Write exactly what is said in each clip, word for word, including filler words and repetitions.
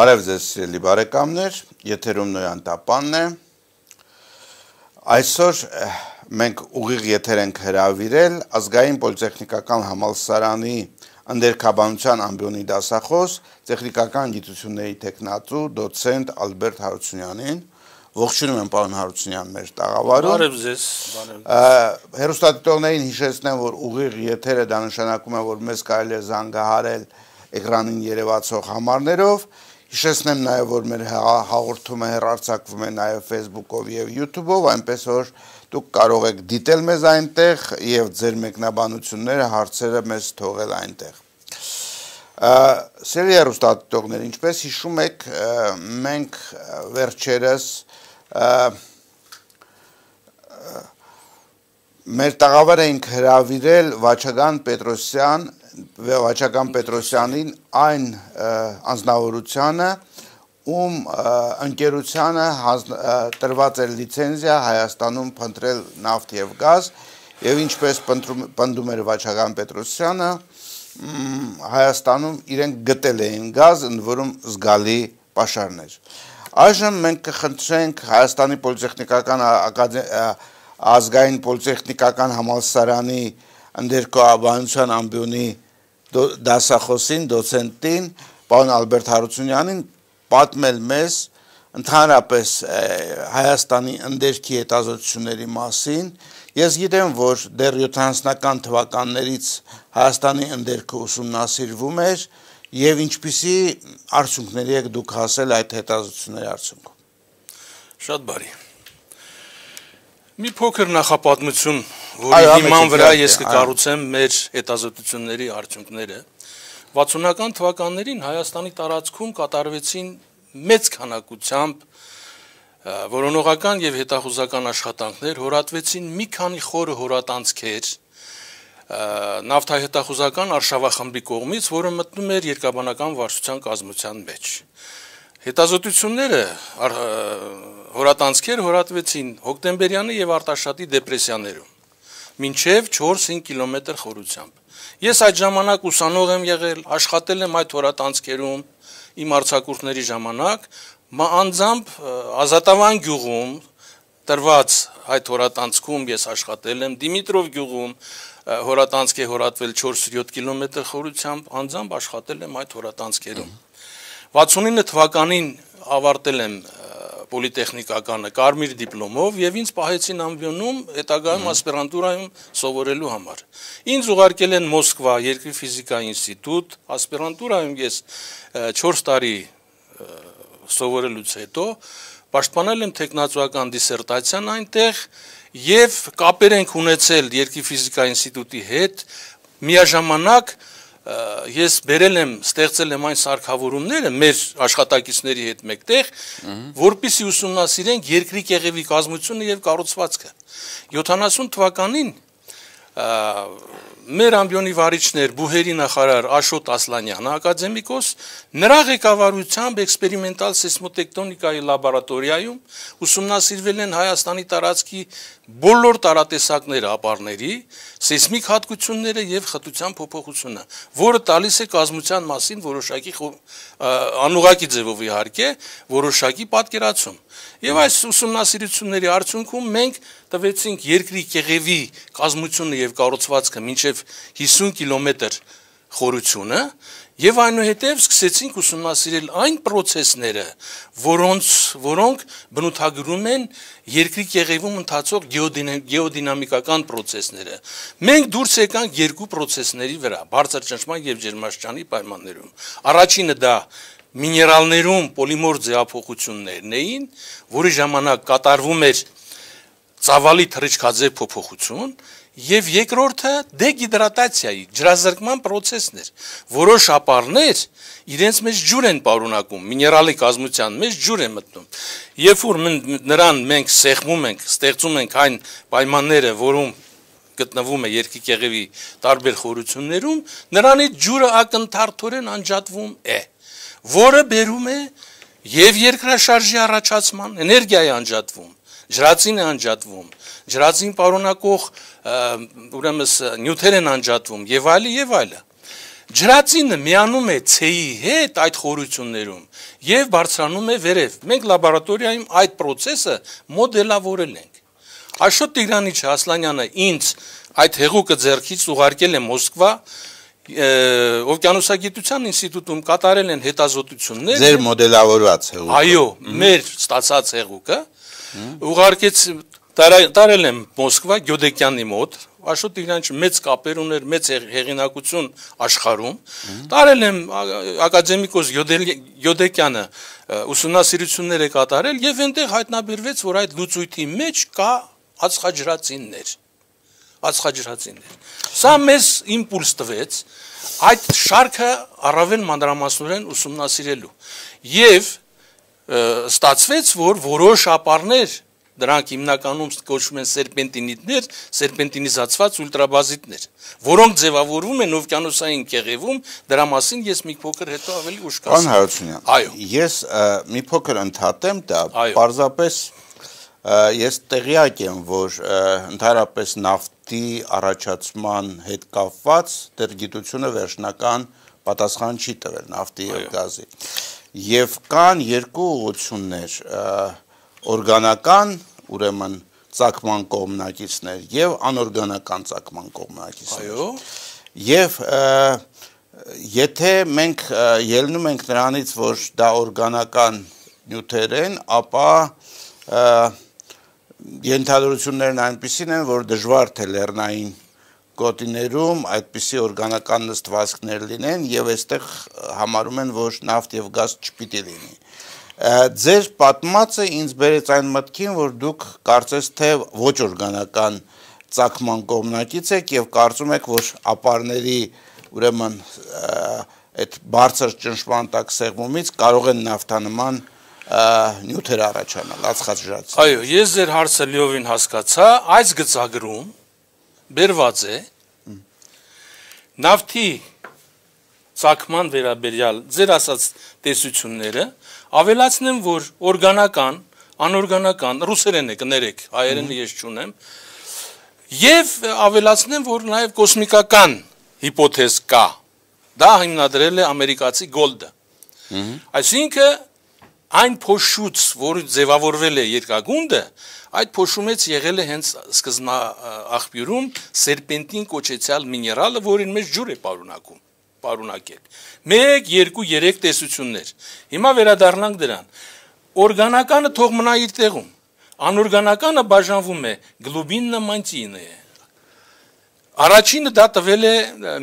Բարև ձեզ սիրելի բարեկամներ, եթերում Նոյան Տապանն է։ Այսօր մենք ուղիղ եթեր ենք հրավիրել ազգային պոլիտեխնիկական համալսարանի ընդերքաբանության ամբիոնի դասախոս, տեխնիկական գիտությունների տեխնատու, դոցենտ Ալբերտ Հարությունյանին։ Ողջունում եմ պարոն Հարությունյան մեր տաղավարում։ Բարև ձեզ, բարև։ Հեռուստադիտողներին հիշեցնեմ, որ ուղիղ եթերը դա նշանակում է, որ մեզ կարելի է զանգահարել էկրանին երևացող համարներով։ Հիշեցնեմ նաև, որ մեր հաղորդումը հեռարձակվում է նաև Facebook-ով և YouTube-ով, այնպես որ դուք կարող եք դիտել մեզ այնտեղ և ձեր մեկնաբանությունները, հարցերը մեզ թողել այնտեղ։ Սիրելի հեռուստադիտողներ, ինչպես հիշում եք, մենք վերջերս մեր տաղավար էինք հրավիրել Վաչագան Պետրոսյան Վաչագան Պետրոսյանին այն անձնավորությանը, ում ընկերությանը տրված էր լիցենզիա Հայաստանում փնտրել նավթ և գազ, և ինչպես պնդում էր Վաչագան Պետրոսյանը, Հայաստանում իրենք գտել էին գազ, ընդ որում զգալի պաշարներ։ Այժմ մենք կխնդրենք Հայաստանի պոլիտեխնիկական ազգային պոլիտեխնիկական համալսարանի ընդերքաբանության ամբիոնի դասախոսին, դոցենտին, պարոն Ալբերտ Հարությունյանին պատմել մեզ ընդհանրապես Հայաստանի ընդերքի հետազոտությունների մասին։ Ես գիտեմ, որ դեռ յոթանասունական թվականներից Հայաստանի ընդերքը ուսումնասիրվում էր և ինչպիսի արդյունքների եք դուք հասել այդ հետազոտությունների արդյունքում։ Շատ բարի։ Մի փոքր նախապատմություն, որի հիման վրա ես կկառուցեմ մեր հետազոտությունների արդյունքները։ վաթսունական թվականներին Հայաստանի տարածքում կատարվեցին մեծ քանակությամբ որոնողական և հետախուզական աշխատանքներ, հորատվեցին մի քանի խորը հորատանցքեր նավթահետախուզական արշավախմբի կողմից, որը մտնում էր Երկրաբանական վարչության կազմության մեջ։ Հետազոտությունները հորատանցքեր հորատվեցին հոկտեմբերյանի և Արտաշատի դեպրեսիաներում, մինչև չորս-հինգ կիլոմետր խորությամբ։ Ես այդ ժամանակ ուսանող եմ եղել, աշխատել եմ այդ հորատանցքերում իմ արձակուրդների ժամանակ, անձամբ Ազատավան գյուղում տրված այդ հորատանցքում ես աշխատել եմ, Դիմիտրով գյուղում հորատանցք է հորատվել չորս-յոթ կիլոմետր խորությամբ, անձամբ աշխատել եմ այդ հորատանցքերում։ վաթսունինը թվականին ավարտել եմ պոլիտեխնիկականը կարմիր դիպլոմով և ինձ պահեցին ամբիոնում հետագայում ասպիրանտուրայում սովորելու համար։ Ինձ ուղարկել են Մոսկվա Երկրի ֆիզիկայի ինստիտուտ, ասպիրանտուրայում ես չորս տարի սովորելուց հետո պաշտպանել եմ թեկնածուական դիսերտացիան այնտեղ և կապեր ենք ունեցել Երկրի ֆիզիկայի ինստիտուտի հետ, միաժամանակ ես բերել եմ, ստեղծել եմ այն սարքավորումները մեր աշխատակիցների հետ մեկտեղ, որպեսզի ուսումնասիրենք երկրի կեղևի կազմությունը և կառուցվածքը։ յոթանասուն թվականին մեր ամբիոնի վարիչներ բուհերի նախարար Աշոտ Ասլանյանը, ակադեմիկոս, նրա ղեկավարությամբ էքսպերիմենտալ սեյսմոտեկտոնիկայի լաբորատորիայում ուսումնասիրվել են Հայաստանի տարածքի բոլոր տարատեսակներ ապարների, սեյսմիկ հատկությունները և խտության փոփոխությունը, որը տալիս է կազմության մասին որոշակի անուղղակի ձևով իհարկե, որոշակի պատկերացում։ Եվ այս ուսումնասիրությունների արդյունքում մենք տվեցինք երկրի կեղևի կազմությունը և կառուցվածքը մինչև հիսուն կիլոմետր խորությունը և այնուհետև սկսեցինք ուսումնասիրել այն պրոցեսները, որոնք բնութագրում են երկրի կեղևում ընթացող գեոդինամիկական պրոցեսները։ Մենք դուրս եկանք երկու պրոցեսների վրա, բարձր ճնշման և ջերմաստիճանի պայմաններում։ Առաջինը դա միներալներում պոլիմոր ձևափոխություններն էին, որի ժամանակ կատարվում էր ծավալի թռիչքաձև փոփոխություն, և երկրորդը դեգիդրատացիայի, ջրազրկման պրոցեսն էր։ Որոշ ապարներ իրենց մեջ ջուր են պարունակում, միներալի կազմության մեջ ջուր է մտնում։ Երբ որ նրան մենք սեղմում ենք, ստեղծում ենք այն պայմանները, որում գտնվում է երկրի կեղևի տարբեր խորություններում, նրանից ջուրը ակնթարթորեն անջատվում է, որը բերում է և երկրաշարժի առաջացման, էներգիա է անջատվում, ջրածին է անջատվում, ջրածին պարունակող ուրեմն նյութեր են անջատվում եւ այլը եւ այլը։ ջրածինը միանում է ցեի հետ այդ խորություններում եւ բարձրանում է վերև։ Մենք լաբորատորիայում այդ process-ը մոդելավորել ենք։ Աշոտ Տիգրանիչ Ասլանյանը ինձ այդ հեղուկը ձեռքից ուղարկել է Մոսկվա, Օվկիանոսագիտության ինստիտուտում կատարել են հետազոտություններ։ Ձեր մոդելավորված հեղուկը։ Այո, մեր ստացած հեղուկը ուղարկեց տարել եմ Մոսկվա Գյոդեկյանի մոտ, Աշոտ Տիգրանիչը մեծ կապեր ուներ, մեծ հեղինակություն աշխարհում, տարել եմ ակադեմիկոս Գյոդեկյանը ուսումնասիրություններ է կատարել եւ այնտեղ հայտնաբերվեց, որ այդ լուծույթի մեջ կա ածխաջրածիններ, ածխաջրածիններ։ Սա մեզ իմպուլս տվեց այդ շարքը առավել մանրամասնորեն ուսումնասիրելու եւ ստացվեց, որ որոշ ապարներ դրանք հիմնականում կոչվում են սերպենտինիտներ, սերպենտինիզացված ուլտրաբազիտներ, որոնք ձևավորվում են օվկիանոսային կեղևում, դրա մասին ես մի փոքր հետո ավելի ուշ կասեմ։ Պարոն Հարությունյան, այո, ես մի փոքր ընդհատեմ դա, պարզապես ես տեղյակ եմ, որ ընդհանրապես նավթի առաջացման հետ կապված դեռ գիտությունը վերջնական պատասխան չի տվել նավթի եւ գազի։ Եվ կան երկու ուղղություններ, օրգանական, ուրեմն ծագման կողմնակիցներ եւ անօրգանական ծագման կողմնակիցներ։ Այո։ Եվ եթե մենք ելնում ենք նրանից, որ դա օրգանական նյութեր են, ապա ենթադրություններն այնպիսին են, որ դժվար թե լեռնային գոտիներում այդպիսի օրգանական նստվածքներ լինեն եւ այստեղ համարում են, որ նավթ եւ գազ չպիտի լինի։ Ձեր պատմածը ինձ բերեց այն մտքին, որ դուք կարծես թե ոչ օրգանական ծագման կողմնակից եք եւ կարծում եք, որ ապարների ուրեմն այդ բարձր ճնշման տակ սեղմումից կարող են նավթանման նյութեր առաջանալ, ածխաջրածին։ Այո, ես ձեր հարցը լիովին հասկացա, այս գծագրում բերված է նավթի ծագման վերաբերյալ ձեր ասած տեսությունները, ավելացնեմ, որ օրգանական, անօրգանական, ռուսերեն է կներեք, հայերենը ես չունեմ, եւ ավելացնեմ, որ նաեւ կոսմիկական հիպոթեզ կա, դա հիմնադրել է ամերիկացի Գոլդը։ Այսինքն այն փոշուց, որ ձևավորվել է երկագունդը, այդ փոշումից եղել է հենց սկզբնա աղբյուրում սերպենտին կոչեցյալ միներալը, որին մեջ ջուր է պարունակում, պարունակել։ մեկ, երկու, երեք տեսություններ։ Հիմա վերադառնանք դրան։ Օրգանականը թող մնա իր տեղում։ Անօրգանականը բաժանվում է գլուբինը, մանտինը։ Առաջինը դա տվել է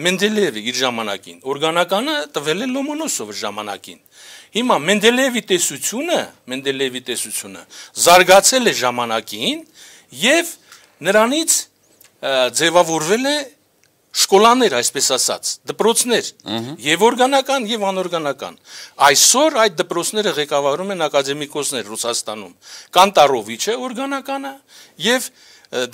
Մենդելեևը իր ժամանակին, օրգանականը տվել է Լոմոնոսովը ժամանակին։ Հիմա Մենդելեևի տեսությունը, Մենդելեևի տեսությունը զարգացել է ժամանակին եւ նրանից ձևավորվել է շկոլաներ, այսպես ասած, դպրոցներ, եւ օրգանական եւ անօրգանական։ Այսօր այդ դպրոցները ղեկավարում են ակադեմիկոսներ Ռուսաստանում։ Կանտարովիչը օրգանականը եւ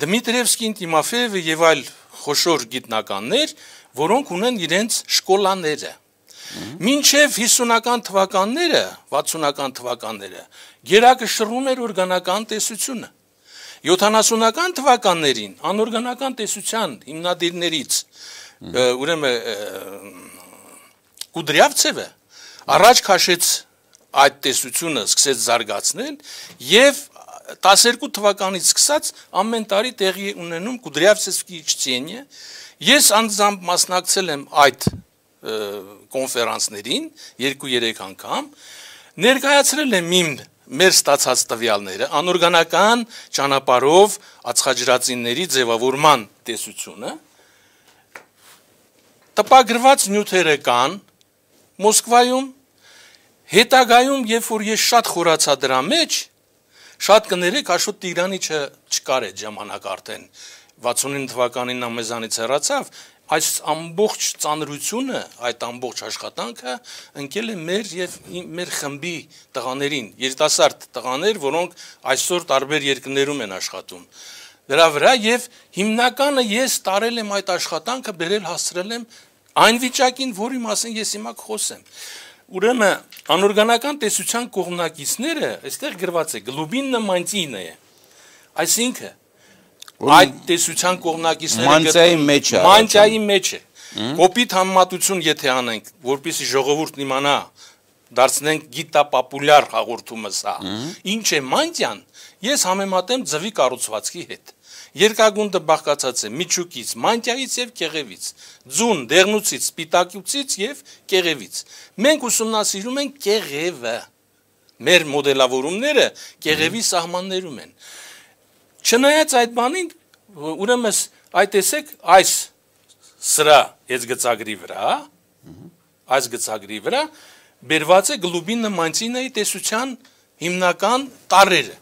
Դմիտրիևսկին, Տիմոֆեևը եւ այլ խոշոր գիտնականներ, որոնք ունեն իրենց շկոլաները։ Մինչև հիսունական թվականները, վաթսունական թվականները գերակը շռում էր օրգանական տեսությունը։ յոթանասունական թվականներին անօրգանական տեսության հիմնադիրներից ուրեմն Կուդրյավցևը առաջ քաշեց այդ տեսությունը, սկսեց զարգացնել եւ տասներկու թվականից սկսած ամեն տարի տեղի ունենում Կուդրյավցևսկի չտենիը։ Ես անձամբ մասնակցել եմ այդ կոնֆերանսներին երկու-երեք անգամ, ներկայացրել եմ իմ մեր ստացած տվյալները, անօրգանական ճանապարհով ածխաջրածինների ձևավորման տեսությունը, տպագրված նյութերը կան Մոսկվայում, հետագայում, երբ որ ես շատ խորացա դրա մեջ, շատ կներեք, Աշոտ Տիգրանիչը չկար այդ ժամանակ արդեն, վաթսունինը թվականին նա մեզանից հեռացավ, այս ամբողջ ծանրությունը, այդ ամբողջ աշխատանքը ընկել է մեր եւ մեր խմբի տղաներին, երիտասարդ տղաներ, որոնք այսօր տարբեր երկրներում են աշխատում։ Դրա վրա եւ հիմնականը ես տարել եմ այդ աշխատանքը, բերել հասցրել եմ այն վիճակին, որի մասին ես հիմա կխոսեմ։ Ուրեմն անօրգանական տեսության կողմնակիցները, այստեղ գրված է գլուբինը, մանտինը է։ Այսինքն այդ տեսության կողմնակիցները մանտիայի մեջ է, մանտիայի մեջ է։ Կոպիտ համեմատություն եթե անենք, որպեսզի ժողովուրդն իմանա, դարձնենք գիտապոպուլյար հաղորդումը սա։ Ինչ է մանդիան, ես համեմատեմ ձվի կառուցվածքի հետ։ Երկագունդը բաղկացած է միջուկից, մանդիայից եւ կեղևից, ձուն, դեղնուցից, սպիտակուցից եւ կեղևից։ Մենք ուսումնասիրում ենք կեղևը։ Մեր մոդելավորումները կեղևի սահմաններում են։ Չնայած այդ բանին, ուրեմն այդ տեսեք, այս սրա այս գծագրի վրա, այս գծագրի վրա բերված է գլուբինը մանցինայի տեսության հիմնական տարրերը։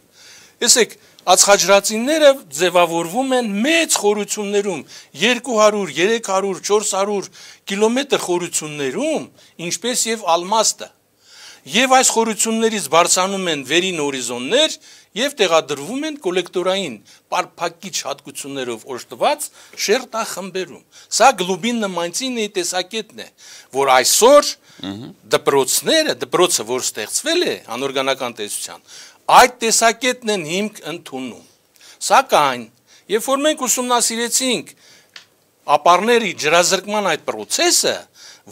Տեսեք, ածխաջրածինները ձևավորվում են մեծ խորություններում, երկու հարյուր, երեք հարյուր, չորս հարյուր կիլոմետր խորություններում, ինչպես եւ ալմաստը։ Եվ այս խորություններից բարձրանում են վերին հորիզոններ եւ տեղադրվում են կոլեկտորային պարփակիչ հատկություններով օժտված շերտախմբերում։ Սա գլուբինը մանցինի տեսակետն է, որ այսօր դպրոցները, դպրոցը, որ ստեղծվել է անօրգանական տեսության, այդ տեսակետն են հիմք ընդունում։ Սակայն, երբ որ մենք ուսումնասիրեցինք ապարների ջրազրկման այդ process-ը,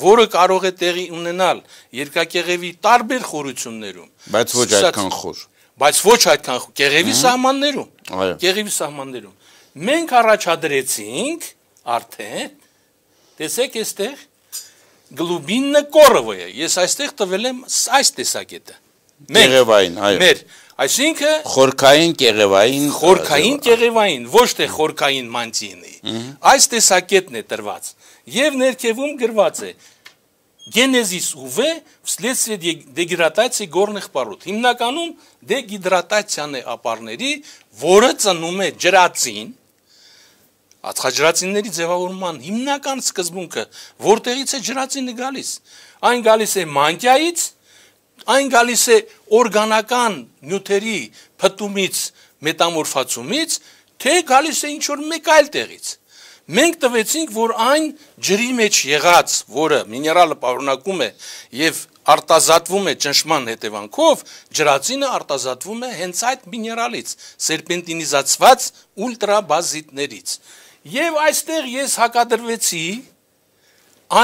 որը կարող է տեղի ունենալ երկակեղևի տարբեր խորություններում, բայց ոչ այդքան խոր, բայց ոչ այդքան խոր, կեղևի սահմաններում, կեղևի սահմաններում, մենք առաջադրեցինք արդեն, տեսեք այստեղ, գլուբինը կորովը է, ես այստեղ տվել եմ այս տեսակետը, կեղևային, այո, մեր, այսինքն խորքային կեղևային, խորքային կեղևային, ոչ թե խորքային մանցինի, այս տեսակետն է տրված, եւ ներքևում գրված է գենեզիս ուվ վследствие դեգիդրատացիայի գորնիխ պարոտ։ Հիմնականում դեգիդրատացիան է ապարների, որը ծնում է ջրածին, ածխաջրածինների ձևավորման հիմնական սկզբունքը, որտեղից է ջրածինը գալիս։ Այն գալիս է մանկյայից, այն գալիս է օրգանական նյութերի փտումից, մետամորֆացումից, թե գալիս է ինչ-որ մեկ այլ տեղից։ Մենք տվեցինք, որ այն ջրի մեջ եղած, որը միներալը պարունակում է եւ արտազատվում է ճնշման հետևանքով, ջրածինը արտազատվում է հենց այդ միներալից, սերպենտինիզացված ուլտրաբազիտներից։ Եվ այստեղ ես հակադրվեցի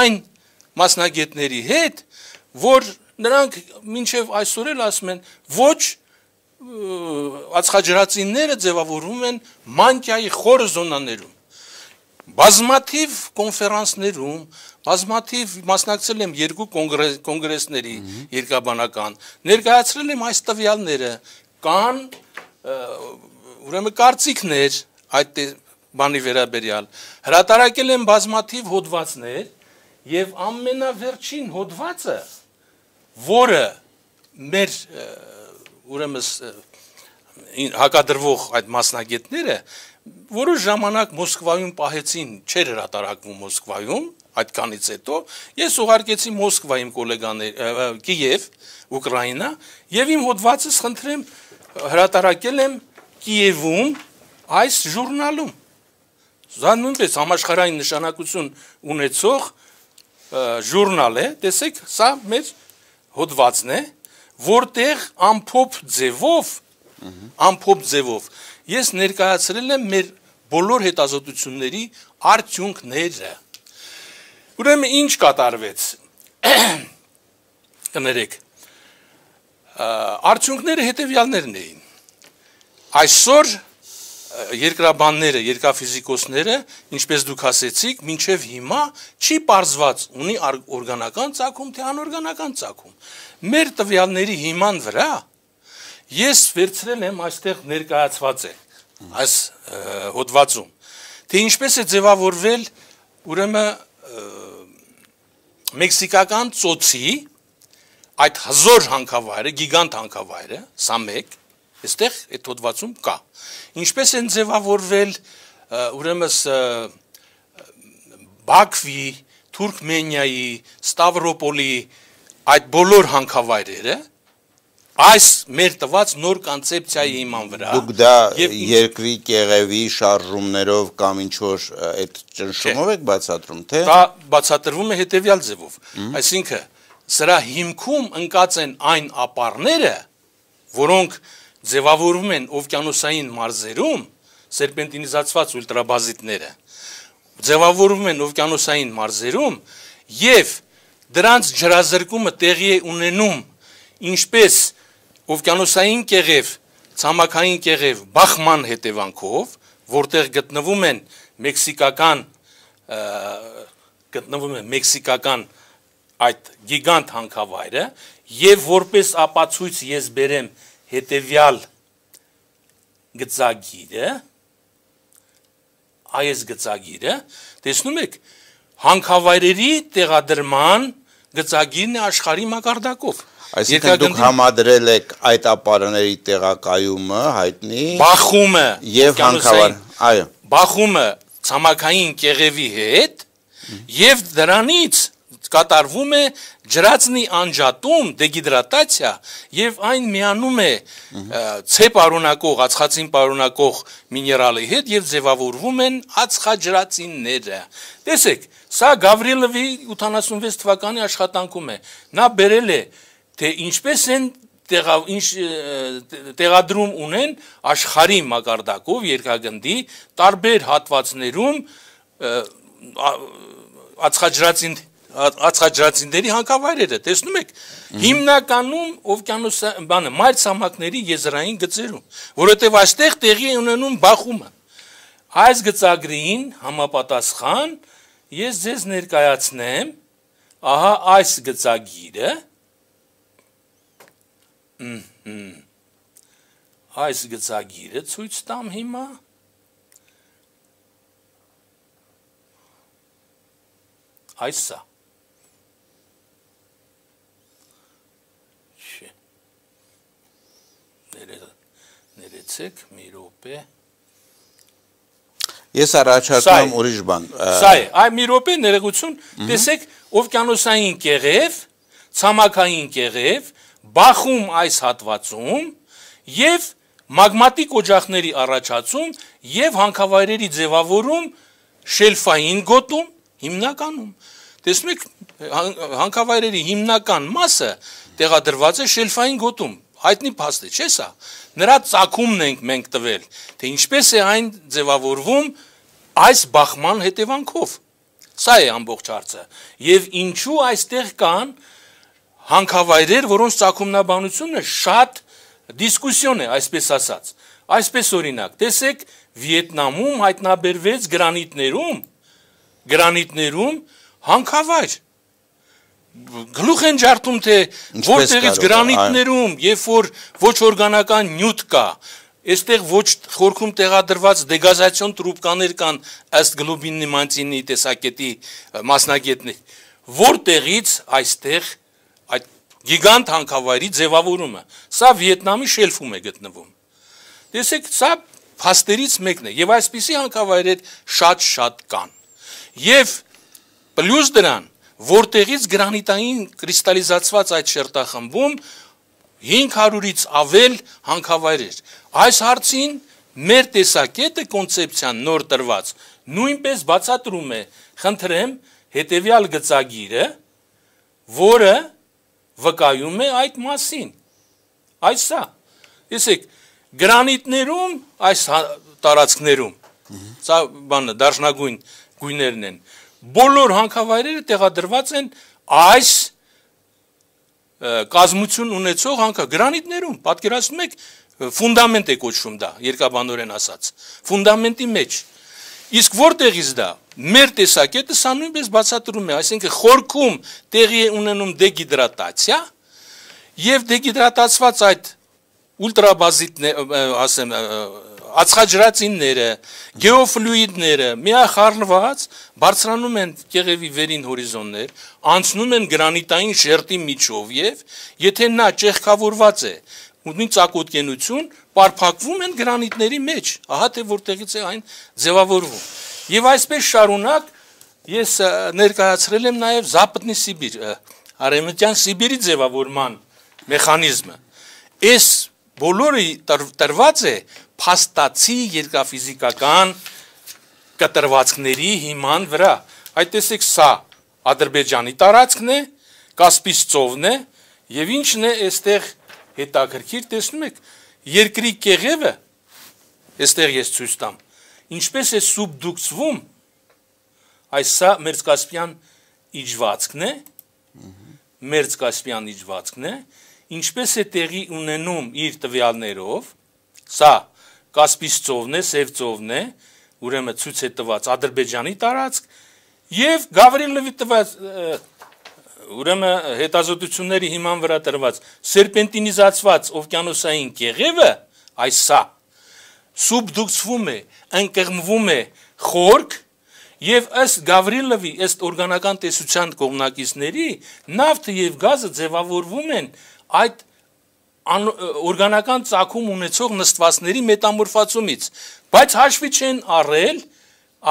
այն մասնագետների հետ, որ նրանք մինչև այսօր էլ ասում են, ոչ ածխաջրածինները ձևավորվում են մանկյայի խորը զոնաներում։ Բազմաթիվ կոնֆերանսներում, բազմաթիվ մասնակցել եմ երկու կոնգրեսների երկաբանական, ներկայացրել եմ այս տվյալները, կան ուրեմն կարծիքներ այդ բանի վերաբերյալ, հրատարակել եմ բազմաթիվ հոդվածներ եւ ամենավերջին հոդվածը, որը մեր ուրեմն հակադրվող այդ մասնագետները որոշ ժամանակ Մոսկվայում պահեցին, չէր հրատարակվում Մոսկվայում, այդքանից հետո ես ուղարկեցի Մոսկվա իմ գոլեգաներ, Կիև, Ուկրաինա, եւ իմ հոդվածս խնդրեմ հրատարակել եմ Կիևում այս ժուրնալում։ Դա նույնպես համաշխարհային նշանակություն ունեցող ժուրնալ է, տեսեք, սա մեր հոդվածն է, որտեղ ամփոփ ձևով, ամփոփ ձևով ես ներկայացրել եմ մեր բոլոր հետազոտությունների արդյունքները։ Ուրեմն ինչ կատարվեց։ Կներեք։ Արդյունքները հետևյալներն էին։ Այսօր երկրաբանները, երկրաֆիզիկոսները, ինչպես դուք ասեցիք, մինչև հիմա չի պարզված ունի օրգանական ծագում, թե անօրգանական ծագում։ Մեր տվյալների հիման վրա ես վերցրել եմ այստեղ ներկայացված է այս հոդվածում, թե ինչպես է ձևավորվել ուրեմն մեքսիկական ծոցի այդ հզոր հանքավայրը, գիգանտ հանքավայրը, սա մեկ, այստեղ այդ հոդվածում կա։ Ինչպես են ձևավորվել ուրեմն Բաքվի, Թուրքմենիայի, Ստավրոպոլի այդ բոլոր հանքավայրերը այս մեր տված նոր կոնցեպցիայի հիման վրա։ Դուք դա երկրի կեղևի շարժումներով կամ ինչ-որ այդ ճնշումով եք բացատրում, թե։ Դա բացատրվում է հետևյալ ձևով։ Այսինքն, սրա հիմքում ընկած են այն ապարները, որոնք ձևավորվում են օվկիանոսային մարզերում, սերպենտինիզացված ուլտրաբազիտները, ձևավորվում են օվկիանոսային մարզերում եւ դրանց ջրազրկումը տեղի է ունենում ինչպես օվկիանոսային կեղև, ցամաքային կեղև բախման հետևանքով, որտեղ գտնվում են մեքսիկական գտնվում է մեքսիկական այդ գիգանտ հանքավայրը եւ որպես ապացույց ես բերեմ հետեւյալ գծագիրը այս գծագիրը տեսնում եք հանքավայրերի տեղադրման գծագիրն է աշխարհի մակարդակով Այսինքն դուք համադրել եք այդ ապարների տեղակայումը հայտնի բախումը եւ հանքավայր այո բախումը ցամաքային կեղևի հետ եւ դրանից կատարվում է ջրածնի անջատում դեհիդրատացիա եւ այն միանում է ցե պարունակող ածխածին պարունակող միներալի հետ եւ ձևավորվում են ածխաջրածինները տեսեք սա Գավրիելովի ութանասունվեց թվականի աշխատանքում է նա բերել է թե ինչպես են տեղադրում ունեն աշխարհի մակարդակով երկրագնդի տարբեր հատվածներում ածխաջրածին ածխաջրածինների հանքավայրերը տեսնում եք հիմնականում օվկիանոս բանը մայր ցամաքների եզրային գծերում որովհետև այստեղ տեղի է ունենում բախումը այս գծագրին համապատասխան ես ձեզ ներկայացնեմ ահա այս գծագիրը այս գծագիրը ցույց տամ հիմա այսա չէ ներեցեք մի րոպե ես առաջարկում եմ ուրիշ բան սա է այ մի րոպե ներողություն տեսեք օվկիանոսային կեղև ցամաքային կեղև բախում այս հատվածում եւ մագմատիկ օջախների առաջացում եւ հանքավայրերի ձևավորում շելֆային գոտում հիմնականում տեսնում եք հանքավայրերի հիմնական մասը տեղադրված է շելֆային գոտում հայտնի փաստ է չէ՞ սա նրա ծագումն ենք մենք տվել թե ինչպես է այն ձևավորվում այս բախման հետևանքով սա է ամբողջ հարցը եւ ինչու այստեղ կան հանքավայրեր, որոնց ծագումնաբանությունը շատ դիսկուսիոն է, այսպես ասած։ Այսպես օրինակ, տեսեք, Վիետնամում հայտնաբերվեց գրանիտներում, գրանիտներում հանքավայր։ Գլուխ են ջարդում, թե որտեղից գրանիտներում, երբ որ ոչ օրգանական նյութ կա, այստեղ ոչ խորքում տեղադրված դեգազացիոն տրուբկաներ կան ըստ Գլուբինի Մանցինի տեսակետի մասնագետներ, որտեղից այստեղ այդ գիգանտ հանքավայրի ձևավորումը, սա Վիետնամի շելֆում է գտնվում։ Տեսեք, սա փաստերից մեկն է, եւ այսպիսի հանքավայրեր շատ-շատ կան։ Եվ պլյուս դրան, որտեղից գրանիտային կրիստալիզացված այդ շերտախմբում հինգ հարյուրից ավել հանքավայրեր։ Այս հարցին մեր տեսակետը կոնցեպցիան նոր տրված նույնպես բացատրում է, խնդրեմ, հետեւյալ գծագիրը, որը վկայում է այդ մասին, այս սա, տեսեք, գրանիտներում, այս տարածքներում, սա բանը, դարշնագույն գույներն են, բոլոր հանքավայրերը տեղադրված են այս կազմություն ունեցող հանքա, գրանիտներում, պատկերացնում եք, ֆունդամենտ է կոչվում դա, երկաբանորեն ասած, ֆունդամենտի մեջ, իսկ որտեղից դա, մեր տեսակետը սա նույնպես բացատրում է, այսինքն խորքում տեղի է ունենում դեհիդրատացիա եւ դեհիդրատացված այդ ուլտրաբազիտներ, ասեմ, ածխաջրածինները, գեոֆլուիդները միախառնված բարձրանում են կեղևի վերին հորիզոններ, անցնում են գրանիտային շերտի միջով եւ եթե նա ճեղքավորված է, ունի ծակոտկենություն, պարփակվում են գրանիտների մեջ, ահա թե որտեղից է այն ձևավորվում։ Եվ այսպես շարունակ ես ներկայացրել եմ նաև Զապատնի Սիբիր, Արևմտյան Սիբիրի ձևավորման մեխանիզմը։ Այս բոլորը տրված է փաստացի երկրաֆիզիկական կտրվածքների հիման վրա։ Այդ տեսեք, սա Ադրբեջանի տարածքն է, Կասպից ծովն է, եւ ինչն է այստեղ հետաքրքիր, տեսնում եք, երկրի կեղևը, այստեղ ես ցույց տամ, ինչպես է սուբդուկցվում այս սա Մերձկասպյան իջվածքն է, Մերձկասպյան իջվածքն է, ինչպես է տեղի ունենում իր տվյալներով, սա Կասպից ծովն է, Սև ծովն է, ուրեմն ցույց է տված Ադրբեջանի տարածք եւ Գավրիլովի տված ուրեմն հետազոտությունների հիման վրա տրված սերպենտինիզացված օվկիանոսային կեղևը, այս սա սուբդուկցվում է, ընկղմվում է խորք եւ ըստ Գավրիլովի, ըստ օրգանական տեսության կողմնակիցների, նավթը եւ գազը ձևավորվում են այդ օրգանական ծագում ունեցող նստվածների մետամորֆացումից, բայց հաշվի չեն առել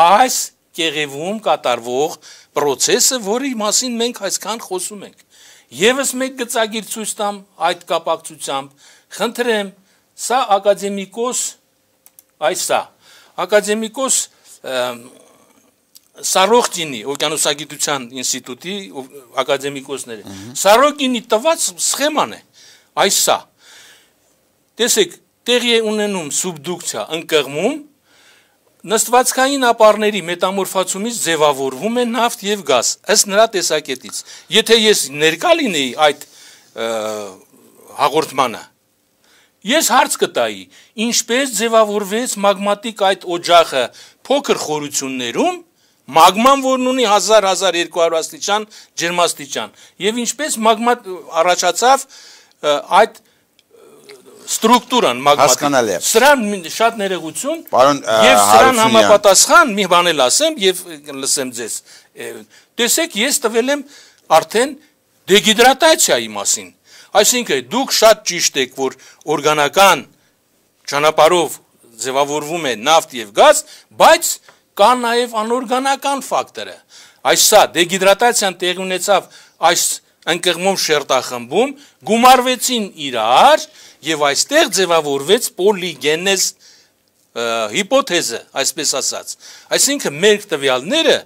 այս կեղևում կատարվող process-ը, որի մասին մենք այսքան խոսում ենք։ Եվս մեկ գծագիր ցույց տամ այդ կապակցությամբ, խնդրեմ, սա ակադեմիկոս, այս սա, ակադեմիկոս Սարոկինի օվկիանոսագիտության ինստիտուտի ակադեմիկոսները, Սարոկինի տված սխեման է, այս սա, տեսեք, տեղի է ունենում սուբդուկցիա, ընկղմում, նստվածքային ապարների մետամորֆացումից ձևավորվում է նավթ եւ գազ, ըստ նրա տեսակետից։ Եթե ես ներկա լինեի այդ հաղորդմանը, ես հարց կտայի, ինչպես ձևավորվեց մագմատիկ այդ օջախը փոքր խորություններում, մագման, որն ունի հազար հազար երկու հարյուր աստիճան ջերմաստիճան, եւ ինչպես մագմա առաջացավ այդ ստրուկտուրան մագմատիկ։ Սրան շատ ներողություն, եւ սրան համապատասխան մի բան էլ ասեմ եւ լսեմ ձեզ։ Տեսեք, ես տվել եմ արդեն դեգիդրատացիայի մասին։ Այսինքն դուք շատ ճիշտ եք, որ օրգանական ճանապարհով ձևավորվում է նավթ եւ գազ, բայց կա նաեւ անօրգանական ֆակտորը։ Այս սա դեգիդրատացիան տեղի ունեցավ այս ընկղմում շերտախմբում, գումարվեցին իրար եւ այստեղ ձևավորվեց պոլիգենեզ հիպոթեզը, այսպես ասած։ Այսինքն մեր տվյալները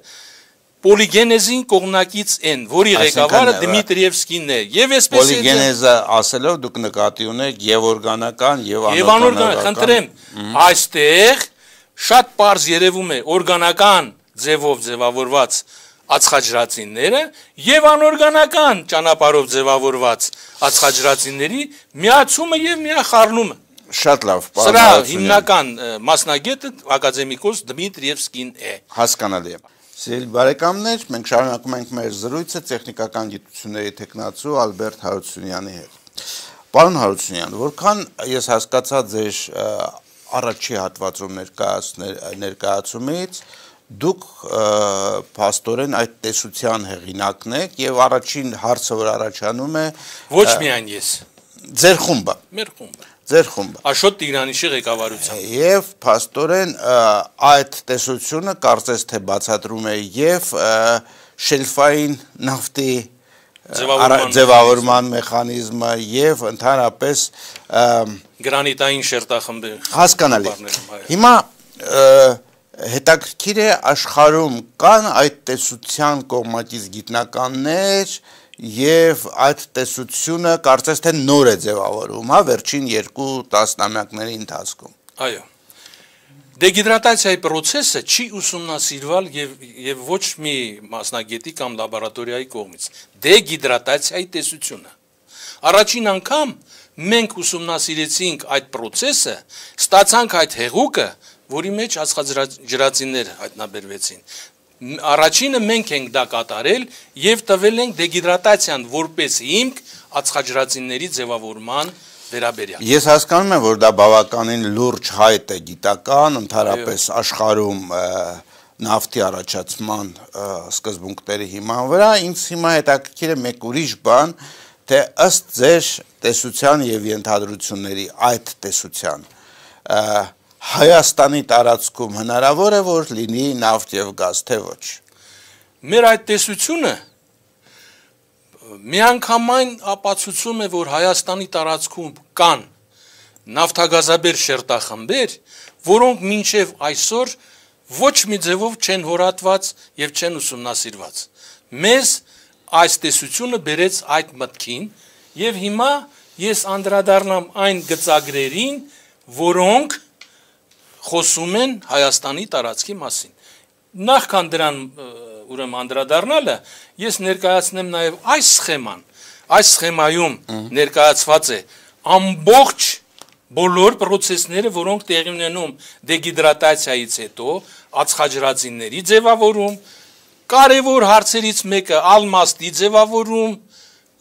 պոլիգենեզին կողմնակից են, որի ղեկավարը Դմիտրիևսկին է։ Եվ այսպես պոլիգենեզը ասելով դուք նկատի ունեք եւ օրգանական եւ անօրգանական։ Խնդրեմ, այստեղ շատ པարզ երևում է օրգանական ձևով ձևավորված ածխաջրածինները եւ անօրգանական ճանապարհով ձևավորված ածխաջրածինների միացումը եւ միախառնումը։ Շատ լավ, պարոն։ Սրա հիմնական մասնագետը ակադեմիկոս Դմիտրիևսկին է։ Հասկանալի է։ Սիրելի բարեկամներ, մենք շարունակում ենք մեր զրույցը տեխնիկական գիտությունների տեխնացու Ալբերտ Հարությունյանի հետ։ Պարոն Հարությունյան, որքան ես հասկացա ձեր առաջի հատվածում ներկայացումից, դուք փաստորեն այդ տեսության հեղինակն եք եւ առաջին հարցը, որ առաջանում է, ոչ միայն ես, ձեր խումբը, մեր խումբը, ձեր խումբը, Աշոտ Տիգրանիշի ղեկավարությամբ, եւ փաստորեն այդ տեսությունը կարծես թե բացատրում է եւ շելֆային նավթի ձևավորման մեխանիզմը եւ ընդհանրապես գրանիտային շերտախմբի։ Հասկանալի։ Հիմա հետաքրքիր է աշխարհում կան այդ տեսության կողմնակից գիտնականներ եւ այդ տեսությունը կարծես թե նոր է ձևավորվում, հա, վերջին երկու տասնամյակների ընթացքում։ Այո։ Դեգիդրատացիայի process-ը չի ուսումնասիրվել եւ եւ ոչ մի մասնագետի կամ լաբորատորիայի կողմից։ Դեգիդրատացիայի տեսությունը։ Առաջին անգամ մենք ուսումնասիրեցինք այդ process-ը, ստացանք այդ հեղուկը, որի մեջ ածխաջրածիններ հայտնաբերվեցին։ Առաջինը մենք ենք դա կատարել եւ տվել ենք դեգիդրատացիան որպես հիմք ածխաջրածինների ձևավորման վերաբերյալ։ Ես հասկանում եմ, որ դա բավականին լուրջ հայտ է գիտական, ընդհանրապես աշխարհում նավթի առաջացման սկզբունքների հիման վրա, ինձ հիմա հետաքրքիր է մեկ ուրիշ բան, թե ըստ ձեր տեսության եւ ենթադրությունների այդ տեսության Հայաստանի տարածքում հնարավոր է, որ լինի նավթ եւ գազ, թե ոչ։ Մեր այդ տեսությունը միանգամայն ապացուցում է, որ Հայաստանի տարածքում կան նավթագազաբեր շերտախմբեր, որոնք մինչև այսօր ոչ մի ձևով չեն հորատված եւ չեն ուսումնասիրված։ Մեզ այս տեսությունը բերեց այդ մտքին եւ հիմա ես անդրադառնամ այն գծագրերին, որոնք խոսում են Հայաստանի տարածքի մասին։ Նախքան դրան ուրեմն անդրադառնալը, ես ներկայացնեմ նաև այս սխեման։ Այս սխեմայում ներկայացված է ամբողջ բոլոր process-ները, որոնք տեղի ունենում դեգիդրատացիայից հետո, ածխաջրածինների ձևավորում, կարևոր հարցերից մեկը ալմաստի ձևավորում,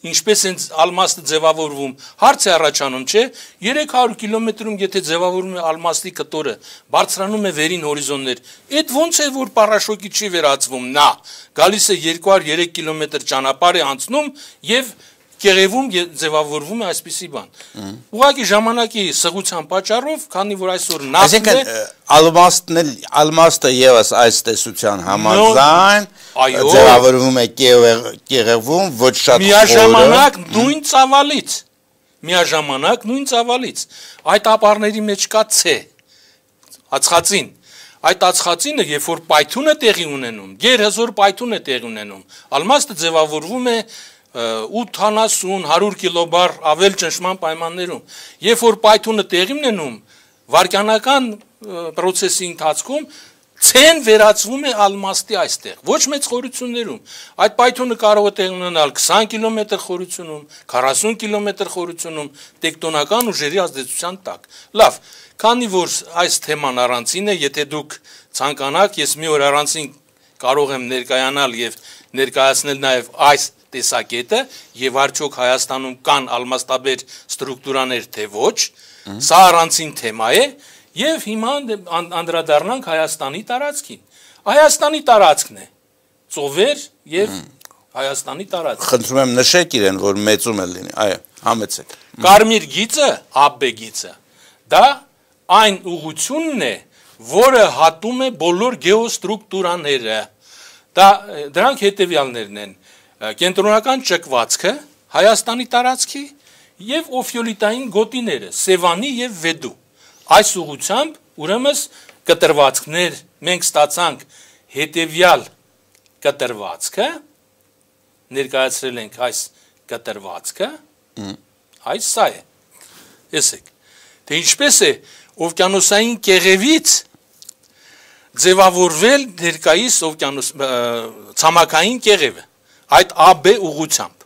ինչպես են ալմաստը ձևավորվում, հարց է առաջանում, չէ, երեք հարյուր կիլոմետրում եթե ձևավորում է ալմաստի կտորը, բարձրանում է վերին հորիզոններ, այդ ոնց է, որ պարաշոկի չի վերածվում, նա գալիս է երկու հարյուր երեք կիլոմետր ճանապարհ է անցնում եւ կեղևում ձևավորվում է այսպիսի բան։ Ուղղակի ժամանակի սղության պատճառով, քանի որ այսօր նավթն է, ալմաստն էլ ալմաստը եւս այս տեսության համաձայն ձևավորվում է կեղևում, ոչ շատ միաժամանակ նույն ծավալից, միաժամանակ նույն ծավալից, այդ ապարների մեջ կա C, ածխածին, այդ ածխածինը, երբ որ պայթյունը տեղի ունենում, գերհզոր պայթյուն է տեղի ունենում, ալմաստը ձևավորվում է ութանասուն հարյուր կիլոբար ավել ճնշման պայմաններում, երբ որ պայթյունը տեղի ունենում, վարկյանական process-ի ընթացքում C-ն վերածվում է ալմաստի այստեղ, ոչ մեծ խորություններում, այդ պայթյունը կարող է տեղի ունենալ քսան կիլոմետր խորությունում, քառասուն կիլոմետր խորությունում, տեկտոնական ուժերի ազդեցության տակ։ Լավ, քանի որ այս թեման առանցին է, եթե դուք ցանկանաք, ես մի օր առանցին կարող եմ ներկայանալ եւ ներկայացնել նաեւ այս տեսակետը եւ արդյոք Հայաստանում կան ալմաստաբեր ստրուկտուրաներ թե ոչ, սա առանցին թեմա է եւ հիմա անդրադառնանք Հայաստանի տարածքին։ Հայաստանի տարածքն է ծովեր եւ Հայաստանի տարածք։ Խնդրում եմ նշեք իրեն, որ մեծում է լինի, այո, համեցեք։ Կարմիր գիծը, ԱԲ գիծը, դա այն ուղղությունն է, որը հատում է բոլոր գեոստրուկտուրաները։ Դա դրանք հետեւյալներն են. կենտրոնական ճկվածքը, Հայաստանի տարածքի եւ օֆիոլիտային գոտիները, Սևանի եւ Վեդու։ Այս ուղղությամբ ուրեմն կտրվածքներ մենք ստացանք հետեւյալ կտրվածքը, ներկայացրել ենք այս կտրվածքը, այս սա է։ Տեսեք, թե ինչպես է օվկիանոսային կեղևից ձևավորվել ներկայիս օվկիանոս ցամաքային կեղևը, այդ ԱԲ ուղղությամբ։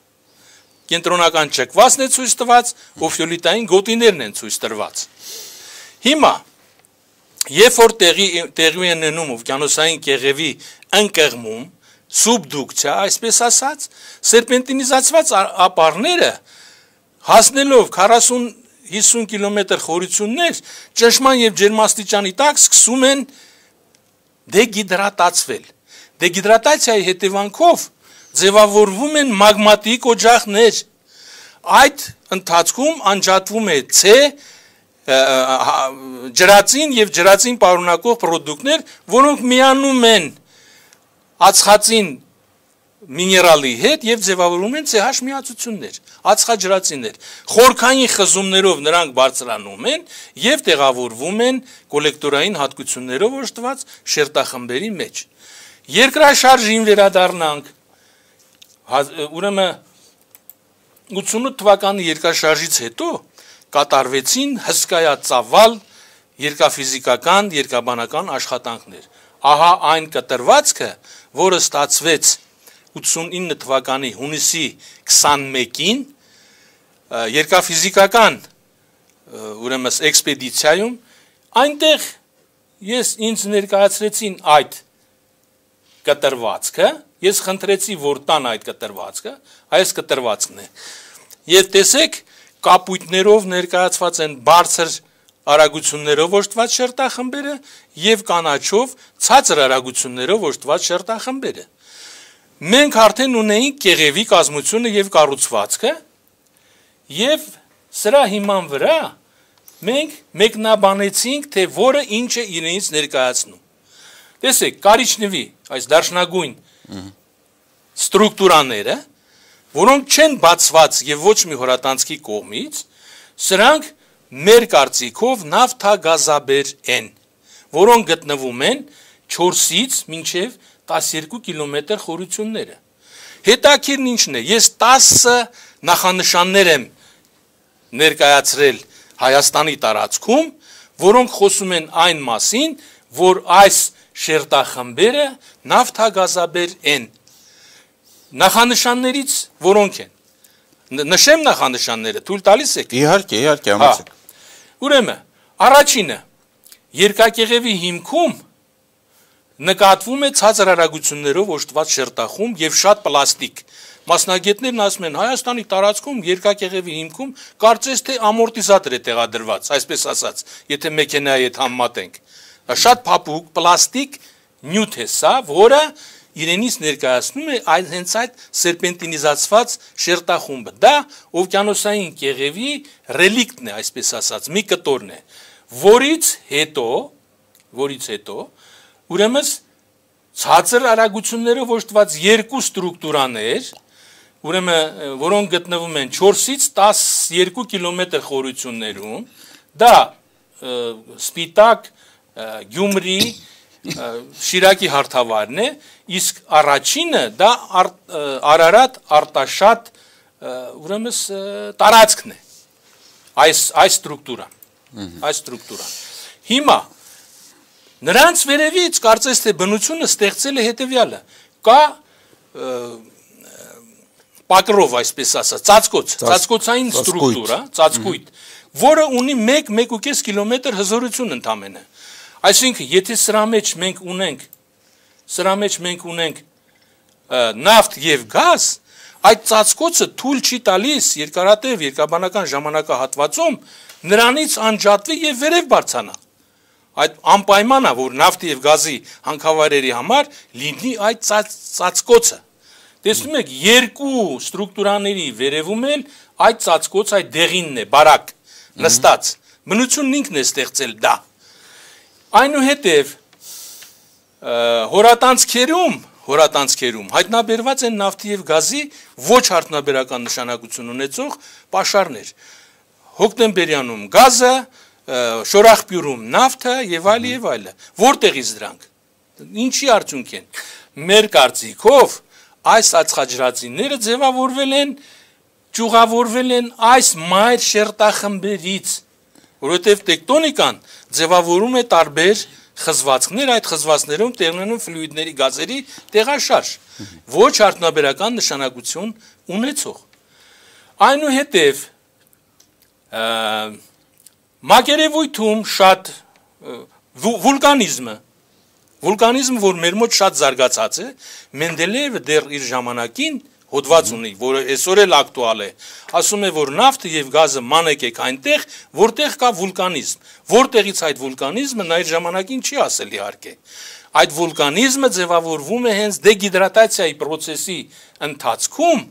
Կենտրոնական ճկվածն է ցույց տված, օֆիոլիտային գոտիներն են ցույց տրված։ Հիմա, երբ որ տեղի տեղի են ունենում օվկիանոսային կեղևի ընկղմում, սուբդուկցիա, այսպես ասած, սերպենտինիզացված ապարները հասնելով քառասուն հիսուն կիլոմետր խորություններ, ճնշման եւ ջերմաստիճանի տակ սկսում են դեգիդրատացվել։ Դեգիդրատացիայի հետևանքով ձևավորվում են մագմատիկ օջախներ։ Այդ ընթացքում անջատվում է C, ջրածին եւ ջրածին պարունակող պրոդուկտներ, որոնք միանում են ածխածին միներալի հետ եւ ձևավորում են CH միացություններ, ածխաջրածիններ։ Խորքային խզումներով նրանք բարձրանում են եւ տեղավորվում են կոլեկտորային հատկություններով օժտված շերտախմբերի մեջ։ Երկրաշարժին վերադառնանք։ Ուրեմն ութսունութ թվականի երկրաշարժից հետո կատարվեցին հսկայածավալ երկաֆիզիկական, երկաբանական աշխատանքներ։ Ահա այն կտրվածքը, որը ստացվեց ութսունինը թվականի հունիսի քսանմեկին երկաֆիզիկական ուրեմն էքսպեդիցիայում, այնտեղ ես ինձ ներկայացրեցին այդ կտրվածքը, ես խնդրեցի, որ տան այդ կտրվածքը, այս կտրվածքն է։ Եվ տեսեք, կապույտներով ներկայացված են բարձր արագություններով օժտված շերտախմբերը եւ կանաչով ցածր արագություններով օժտված շերտախմբերը։ Մենք արդեն ունեինք կեղևի կազմությունը եւ կառուցվածքը եւ սրա հիման վրա մենք մեկնաբանեցինք, թե որը ինչ է իրենից ներկայացնում։ Տեսեք, կարիճնվի այս դաշնագույն ստրուկտուրաները, որոնք չեն բացված եւ ոչ մի հորատանցքի կողմից, սրանք մեր կարծիքով նավթագազաբեր են, որոնք գտնվում են չորսից մինչև տասներկու կիլոմետր խորությունները։ Հետաքրքիրն ինչն է, ես տասը նախանշաններ եմ ներկայացրել Հայաստանի տարածքում, որոնք խոսում են այն մասին, որ այս շերտախմբերը նավթագազաբեր են։ Նախանշաններից որոնք են։ Նշեմ նախանշանները, թույլ տալիս եք։ Իհարկե, իհարկե, համեցեք։ Ուրեմն, առաջինը երկակեղևի հիմքում նկատվում է ցածր արագություններով օժտված շերտախումբ եւ շատ պլաստիկ։ Մասնագետներն ասում են Հայաստանի տարածքում երկակեղևի հիմքում կարծես թե ամորտիզատոր է տեղադրված, այսպես ասած, եթե մեքենայի հետ համեմատենք։ Դա շատ փափուկ պլաստիկ նյութ է սա, որը իրենից ներկայացնում է այդ հենց այդ սերպենտինիզացված շերտախումբը։ Դա օվկիանոսային կեղևի ռելիկտն է, այսպես ասած, մի կտորն է, որից հետո, որից հետո ուրեմն ցածր արագություններով օժտված երկու ստրուկտուրաներ, ուրեմն որոնք գտնվում են չորսից տասներկու կիլոմետր խորություններում, դա Սպիտակ, Գյումրի, Շիրակի հարթավայրն է, իսկ առաջինը դա Արարատ, Արտաշատ, ուրեմն տարածքն է, այս այս ստրուկտուրան, այս ստրուկտուրան։ Հիմա նրանց վերևից կարծես թե բնությունը ստեղծել է հետևյալը, կա պակրով, այսպես ասած, ծածկոց, ծածկոցային ստրուկտուրա, ծածկույթ, որը ունի մեկ մեկ ու կես կիլոմետր հզորություն ընդամենը։ Այսինքն, եթե սրա մեջ մենք ունենք, սրա մեջ մենք ունենք նավթ եւ գազ, այդ ծածկոցը թույլ չի տալիս երկարատև երկաբանական ժամանակահատվածում նրանից անջատվի եւ վերև բարձրանա։ Այդ անպայման է, որ նավթի եւ գազի հանքավայրերի համար լինի այդ ծածկոցը։ Տեսնում եք, երկու ստրուկտուրաների վերևում էլ այդ ծածկոց, այդ դեղինն է, բարակ, նստած։ Բնությունն ինքն է ստեղծել դա։ Այնուհետև հորատանցքերում, հորատանցքերում հայտնաբերված են նավթի եւ գազի ոչ արդյունաբերական նշանակություն ունեցող պաշարներ։ Հոկտեմբերյանում գազը, Շորախբյուրում նավթը եւ այլ եւ այլը։ Որտեղից դրանք։ Ինչի արդյունք են։ Մեր կարծիքով այս ածխաջրածինները ձևավորվել են, ճյուղավորվել են այս մայր շերտախմբերից, որովհետև տեկտոնիկան ձևավորում է տարբեր խզվածքներ, այդ խզվածքներում տեղնանում ֆլյուիդների գազերի տեղաշարժ, ոչ արդյունաբերական նշանակություն ունեցող։ Այնուհետև մակերևույթում շատ վուլկանիզմը, վուլկանիզմը, որ մեր մոտ շատ զարգացած է, Մենդելեևը դեռ իր ժամանակին հոդված ունի, որը այսօր էլ ակտուալ է, ասում է, որ նավթը եւ գազը մանեք եք այնտեղ, որտեղ կա վուլկանիզմ, որտեղից այդ վուլկանիզմը նա իր ժամանակին չի ասել իհարկե։ Այդ վուլկանիզմը ձևավորվում է հենց դեգիդրատացիայի process-ի ընթացքում,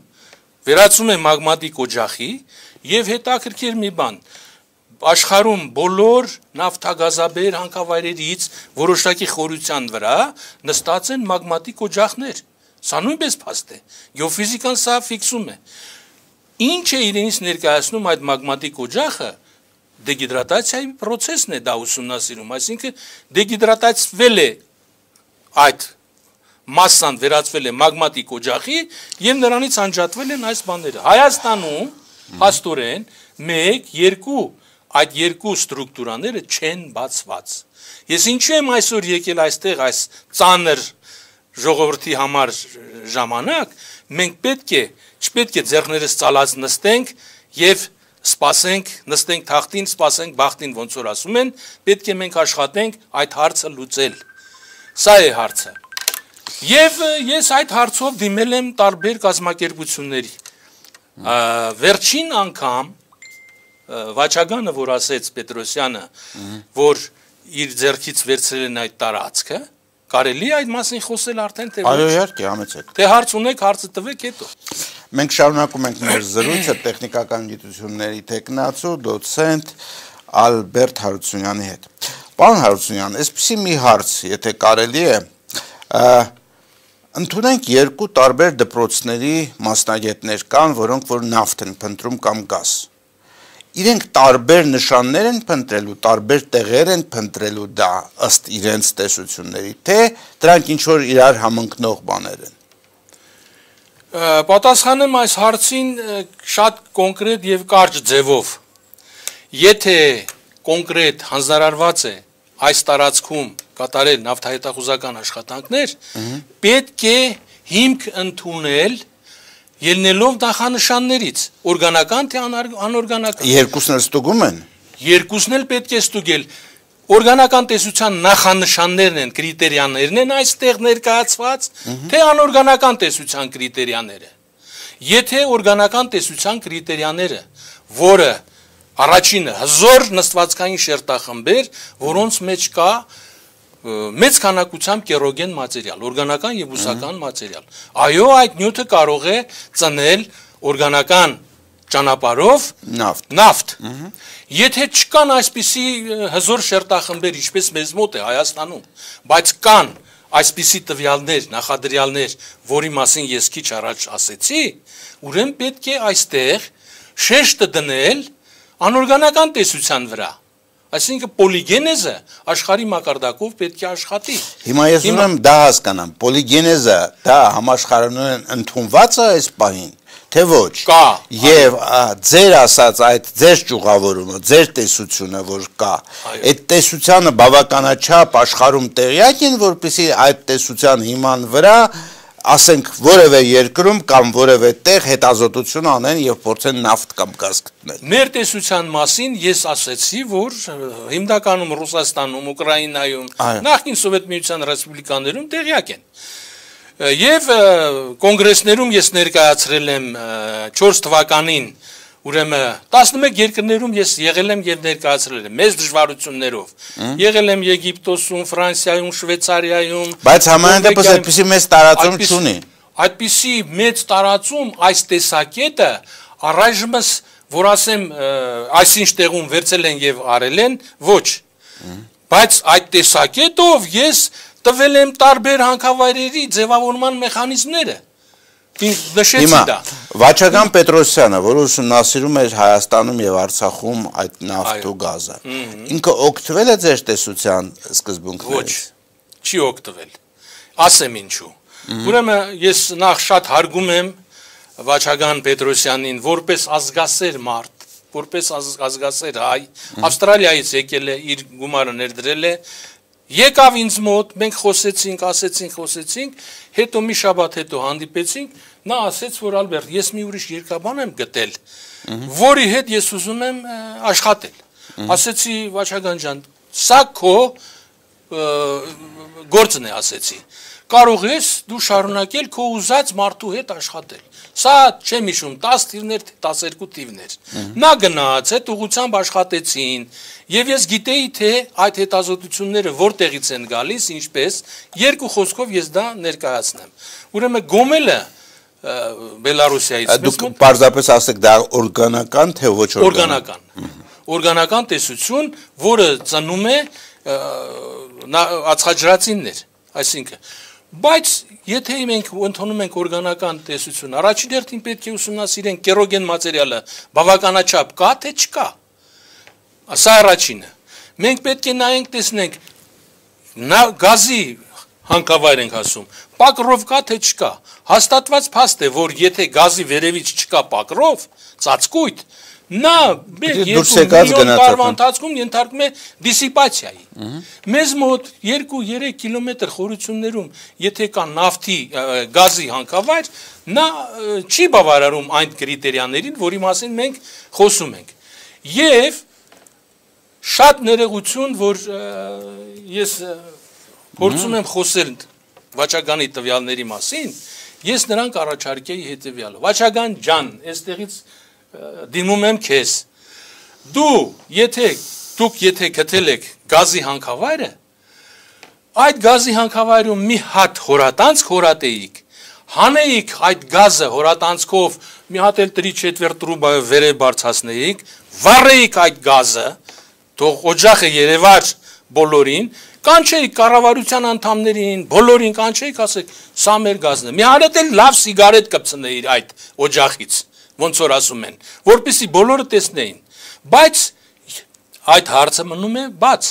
վերածում է մագմատիկ օջախի եւ հետաքրքիր մի բան, աշխարհում բոլոր նավթագազաբեր հանքավայրերից որոշակի խորության վրա նստած են մագմատիկ օջախներ։ Սա նույնպես փաստ է։ Գեոֆիզիկան սա ֆիքսում է։ Ինչ է իրենից ներկայացնում այդ մագմատիկ օջախը, դեգիդրատացիայի process-ն է դա ուսումնասիրում, այսինքն դեգիդրատացվել է այդ մասսան վերածվել է մագմատիկ օջախի եւ նրանից անջատվել են այս բաները։ Հայաստանում հաստորեն մեկ, երկու այդ երկու ստրուկտուրաները չեն բացված։ Ես ինչու եմ այսօր եկել այստեղ այս ծանր ժողովրդի համար ժամանակ, մենք պետք է, չպետք է ձեռներս ծալած նստենք եւ սպասենք, նստենք թախտին, սպասենք բախտին, ոնց որ ասում են, պետք է մենք աշխատենք այդ հարցը լուծել։ Սա է հարցը։ Եվ ես այդ հարցով դիմել եմ տարբեր կազմակերպությունների։ Վերջին անգամ Վաչագանը, որ ասեց Պետրոսյանը, որ իր ձեռքից վերցրել են այդ տարածքը, կարելի է այդ մասին խոսել արդեն թե Այո, իհարկե, համեցեք։ Թե հարց ունեք, հարցը տվեք հետո։ Մենք շարունակում ենք մեր զրույցը տեխնիկական գիտությունների տեխնացու դոցենտ Ալբերտ Հարությունյանի հետ։ Պարոն Հարությունյան, այսպեսի մի հարց, եթե կարելի է, ընդունենք երկու տարբեր դպրոցների մասնագետներ կան, որոնք որ նավթ են փնտրում կամ գազ։ Իրենք տարբեր նշաններ են փնտրելու, տարբեր տեղեր են փնտրելու դա ըստ իրենց տեսությունների, թե դրանք ինչ որ իրար համընկնող բաներ են։ Պատասխանեմ այս հարցին շատ կոնկրետ եւ կարճ ձևով։ Եթե կոնկրետ հանձնարարված է այս տարածքում կատարել նավթահետախուզական աշխատանքներ, պետք է հիմք ընդունել ելնելով նախանշաններից, օրգանական թե անօրգանական։ Երկուսն էլ ստուգում են։ Երկուսն էլ պետք է ստուգել։ Օրգանական տեսության նախանշաններն են, կրիտերիաներն են այստեղ ներկայացված, թե անօրգանական տեսության կրիտերիաները։ Եթե օրգանական տեսության կրիտերիաները, որը առաջինը հզոր նստվածքային շերտախմբեր, որոնց մեջ կա մեծ քանակությամբ կերոգեն մատերիալ, օրգանական եւ բուսական մատերիալ։ Այո, այդ նյութը կարող է ծնել օրգանական ճանապարհով նավթ։ Նավթ։ Եթե չկան այսպիսի հզոր շերտախմբեր, ինչպես մեզ մոտ է Հայաստանում, բայց կան այսպիսի տվյալներ, նախադրյալներ, որի մասին ես քիչ առաջ ասեցի, ուրեմն պետք է այստեղ շեշտը դնել անօրգանական տեսության վրա։ Այսինքն պոլիգենեզը աշխարհի մակարդակով պետք է աշխատի։ Հիմա ես ուզում եմ դա հասկանամ, պոլիգենեզը դա համաշխարհորեն ընդունված է այս պահին, թե ոչ։ Կա։ Եվ ձեր ասած այդ ձեր ճյուղավորումը, ձեր տեսությունը, որ կա, այդ տեսությանը բավականաչափ աշխարհում տեղյակ են, որպեսզի այդ տեսության հիման վրա ասենք որևէ երկրում կամ որևէ տեղ հետազոտություն անեն եւ փորձեն նավթ կամ գազ գտնել։ Մեր տեսության մասին ես ասեցի, որ հիմնականում Ռուսաստանում, Ուկրաինայում, նախկին Սովետ միության ռեսպուբլիկաներում տեղյակ են։ Եվ կոնգրեսներում ես ներկայացրել եմ չորս թվականին, ուրեմն տասնմեկ երկրներում ես եղել եմ եւ ներկայացրել եմ մեծ դժվարություններով։ Եղել եմ Եգիպտոսում, Ֆրանսիայում, Շվեյցարիայում, բայց համենայն դեպս այդպիսի մեծ տարածում չունի։ Այդպիսի մեծ տարածում այս տեսակետը առայժմս, որ ասեմ, այսինչ տեղում վերցել են եւ արել են, ոչ։ Բայց այդ տեսակետով ես տվել եմ տարբեր հանքավայրերի ձևավորման մեխանիզմները։ Նշեցի դա։ Վաչագան Պետրոսյանը, որը ուսումնասիրում էր Հայաստանում եւ Արցախում այդ նավթ ու գազը, ինքը օգտվել է ձեր տեսության սկզբունքներից։ Ոչ, չի օգտվել։ Ասեմ ինչու։ Ուրեմն ես նախ շատ հարգում եմ Վաչագան Պետրոսյանին որպես ազգասեր մարդ, որպես ազգասեր հայ, Ավստրալիայից եկել է, իր գումարը ներդրել է, եկավ ինձ մոտ, մենք խոսեցինք, ասեցինք, խոսեցինք, հետո մի շաբաթ հետո հանդիպեցինք, նա ասեց, որ Ալբերտ, ես մի ուրիշ երկրաբան եմ գտել, որի հետ ես ուզում եմ աշխատել։ Ասեցի, Վաչագան ջան, սա քո գործն է, ասեցի։ Կարող ես դու շարունակել քո ուզած մարդու հետ աշխատել։ Սա չեմ հիշում, տասը թիվներ, տասներկու թիվներ։ Նա գնաց, այդ ուղղությամբ աշխատեցին, եւ ես գիտեի, թե այդ հետազոտությունները որտեղից են գալիս, ինչպես, երկու խոսքով ես դա ներկայացնեմ։ Ուրեմն Գոմելը Բելարուսիայից դուք պարզապես ասեք դա օրգանական թե ոչ օրգանական։ Օրգանական տեսություն, որը ծնում է ածխաջրածիններ, այսինքն Բայց եթե մենք ընդունում ենք օրգանական տեսություն, առաջին հերթին պետք է ուսումնասիրենք կերոգեն մատերիալը բավականաչափ կա թե չկա։ Սա առաջինը։ Մենք պետք է նայենք, տեսնենք գազի հանքավայր ենք ասում, պակրով կա թե չկա։ Հաստատված փաստ է, որ եթե գազի վերևից չկա պակրով, ծածկույթ, նա երկու միլիոն տարվա ընթացքում ենթարկում է դիսիպացիայի։ Մեզ մոտ երկու-երեք կիլոմետր խորություններում, եթե կա նավթի գազի հանքավայր, նա չի բավարարում այն կրիտերիաներին, որի մասին մենք խոսում ենք։ Եվ շատ ներողություն, որ ես փորձում եմ խոսել Վաչագանի տվյալների մասին, ես նրանք առաջարկեի հետևյալը։ Վաչագան ջան, այստեղից դիմում եմ քեզ։ Դու, եթե դուք եթե գտել եք գազի հանքավայրը, այդ գազի հանքավայրում մի հատ հորատանցք հորատեիք, հանեիք այդ գազը հորատանցքով մի հատ էլ տրի չետվերտ տրուբա վերև բարձրացնեիք, վառեիք այդ գազը, թող օջախը երևար բոլորին, կանչեիք կառավարության անդամներին, բոլորին կանչեիք, ասեք, սա մեր գազն է։ Մի հատ էլ լավ սիգարետ կպցնեիր այդ օջախից, ոնց որ ասում են, որպեսզի բոլորը տեսնեին։ Բայց այդ հարցը մնում է բաց։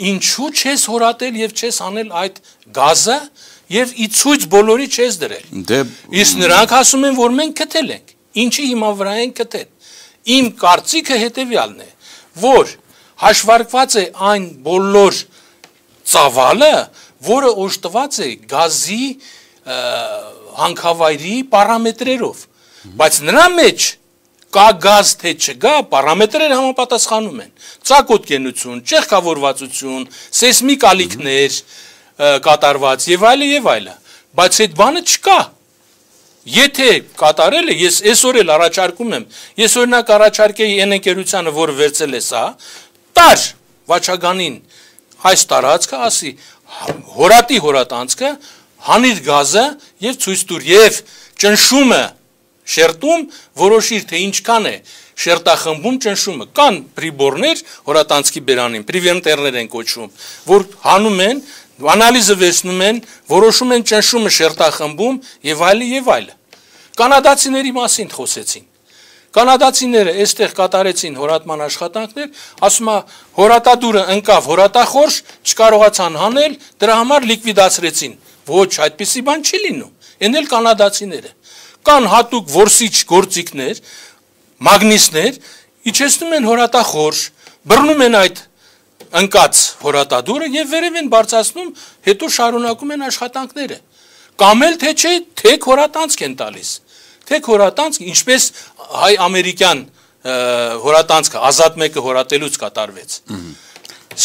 Ինչու չես հորատել եւ չես անել այդ գազը եւ ի ցույց բոլորի չես դրել։ Իսկ նրանք ասում են, որ մենք գտել ենք։ Ինչի հիմա վրա են գտել։ Իմ կարծիքը հետեւյալն է, որ հաշվարկված է այն բոլոր ծավալը, որը օժտված է գազի հանքավայրի պարամետրերով, բայց նրա մեջ կա գազ թե չկա, պարամետրերը համապատասխանում են, ծակոտկենություն, ճեղքավորվածություն, սեյսմիկ ալիքներ կատարված եւ այլը եւ այլը, բայց այդ բանը չկա։ Եթե կատարել է, ես այսօր էլ առաջարկում եմ, ես օրինակ առաջարկեի այն ընկերությանը, որը վերցել է սա, տար Վաչագանին այս տարածքը, ասի հորատի հորատանցքը, հանիր գազը եւ ցույց տուր եւ ճնշումը շերտում որոշիր թե ինչքան է շերտախմբում ճնշումը, կան պրիբորներ հորատանցքի բերանին, պրիվենտերներ են կոչվում, որ հանում են, անալիզը վերցնում են, որոշում են ճնշումը շերտախմբում եւ այլը եւ այլը։ Կանադացիների մասին խոսեցին։ Կանադացիները այստեղ կատարեցին հորատման աշխատանքներ, ասում է հորատադուրը ընկավ հորատախորշ, չկարողացան հանել, դրա համար լիկվիդացրեցին։ Ոչ, այդպիսի բան չի լինում։ Էն էլ կանադացիները։ Կան հատուկ որսիչ գործիքներ, մագնիսներ, իջեցնում են հորատախորշ, բռնում են այդ ընկած հորատադուրը եւ վերև են բարձրացնում, հետո շարունակում են աշխատանքները։ Կամ էլ թե չէ, թեք հորատանցք են տալիս։ Թեք հորատանցք, ինչպես հայ-ամերիկյան հորատանցքը ազատ մեկը հորատելուց կատարվեց։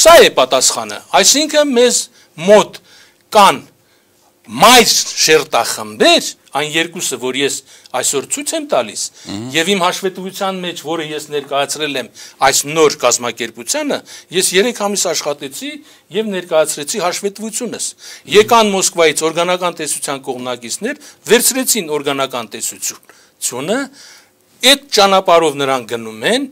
Սա է պատասխանը, այսինքն մեզ մոտ կան մայր շերտախմբեր, այն երկուսը, որ ես այսօր ցույց եմ տալիս, եւ իմ հաշվետվության մեջ, որը ես ներկայացրել եմ այս նոր կազմակերպությանը, ես երեք ամիս աշխատեցի եւ ներկայացրեցի հաշվետվությունս։ Եկան Մոսկվայից օրգանական տեսության կողմնակիցներ, վերցրեցին օրգանական տեսությունը, այդ ճանապարհով նրանք գնում են։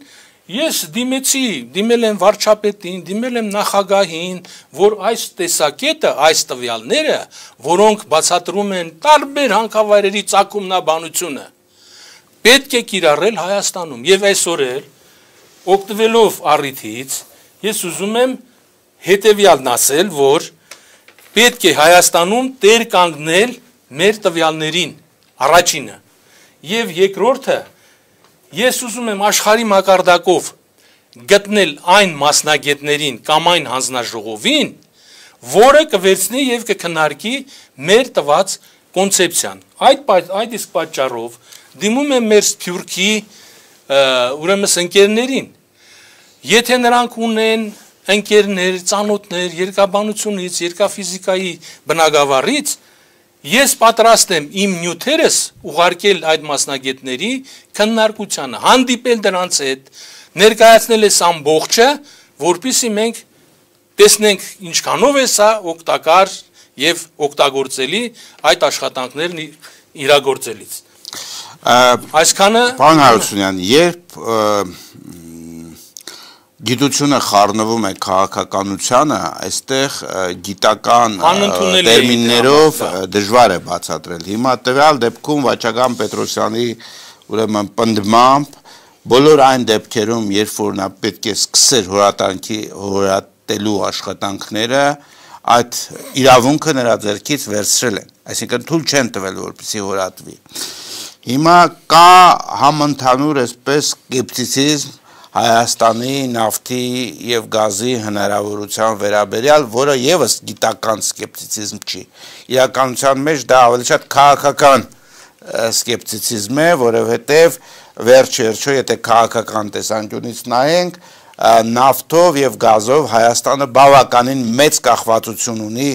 Ես դիմեցի, դիմել եմ վարչապետին, դիմել եմ նախագահին, որ այս տեսակետը, այս տվյալները, որոնք բացատրում են տարբեր հանքավայրերի ծագումնաբանությունը, պետք է կիրառել Հայաստանում։ Եվ այսօր էլ, օգտվելով առիթից, ես ուզում եմ հետևյալն ասել, որ պետք է Հայաստանում տեր կանգնել մեր տվյալներին, առաջինը, եւ երկրորդը, ես ուզում եմ աշխարհի մակարդակով գտնել այն մասնագետներին կամ այն հանձնաժողովին, որը կվերցնի եւ կքննարկի մեր տված կոնցեպցիան։ Այդ այդ իսկ պատճառով դիմում եմ մեր Թուրքի ուրեմն ընկերներին, եթե նրանք ունեն ընկերներ, ծանոթներ, երկաբանությունից, երկաֆիզիկայի բնագավառից, ես պատրաստ եմ իմ նյութերս ուղարկել այդ մասնագետների քննարկությանը, հանդիպել դրանց հետ, ներկայացնել այս ամբողջը, որպեսզի մենք տեսնենք ինչքանով է սա օգտակար եւ օգտագործելի այդ աշխատանքներն իրագործելիս։ Այսքանը Պարոն Հարությունյան, երբ գիտությունը խառնվում է քաղաքականությանը, այստեղ գիտական տերմիններով դժվար է բացատրել։ Հիմա տվյալ դեպքում Վաչագան Պետրոսյանի ուրեմն պնդմամբ բոլոր այն դեպքերում, երբ որ նա պետք է սկսեր հորատանքի հորատելու աշխատանքները, այդ իրավունքը նրա ձեռքից վերցրել են, այսինքն թույլ չեն տվել, որպեսզի հորատվի։ Հիմա կա համընդհանուր այսպես սկեպտիցիզմ Հայաստանի նավթի եւ գազի հնարավորության վերաբերյալ, որը եւս գիտական սկեպտիցիզմ չի։ Իրականության մեջ դա ավելի շատ քաղաքական սկեպտիցիզմ է, որովհետեւ վերջ-վերջո եթե քաղաքական տեսանկյունից նայենք, նավթով եւ գազով Հայաստանը բավականին մեծ կախվածություն ունի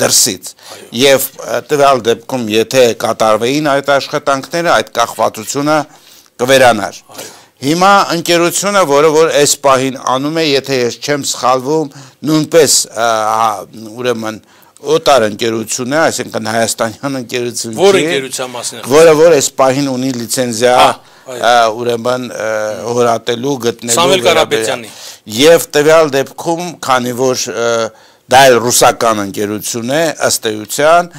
դրսից։ Եվ տվյալ դեպքում եթե կատարվեին այդ աշխատանքները, այդ կախվածությունը կվերանար։ Հիմա ընկերությունը, որը որ այս պահին անում է, եթե ես չեմ սխալվում, նույնպես ուրեմն օտար ընկերություն է, այսինքն հայաստանյան ընկերություն չի, որ ընկերության մասին է, որը որ այս պահին ունի լիցենզիա, ուրեմն հորատելու, գտնելու Սամվել Կարապետյանի։ Եվ տվյալ դեպքում, քանի որ դա էլ ռուսական ընկերություն է, ըստ էության,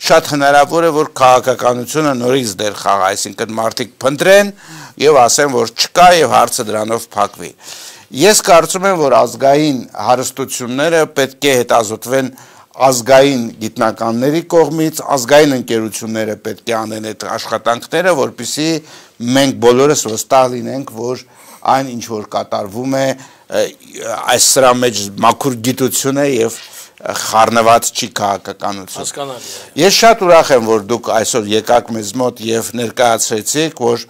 շատ հնարավոր է, որ քաղաքականությունը նորից դեր խաղա, այսինքն մարդիկ փնտրեն եւ ասեն, որ չկա եւ հարցը դրանով փակվի։ Ես կարծում եմ, որ ազգային հարստությունները պետք է հետազոտվեն ազգային գիտնականների կողմից, ազգային ընկերությունները պետք է անեն այդ աշխատանքները, որպեսզի մենք բոլորս վստահ լինենք, որ այն ինչ որ կատարվում է այս սրա մեջ մաքուր գիտություն է եւ խառնված չի քաղաքականություն։ Հասկանալի է։ Ես շատ ուրախ եմ, որ դուք այսօր եկաք մեզ մոտ եւ ներկայացրեցիք, որ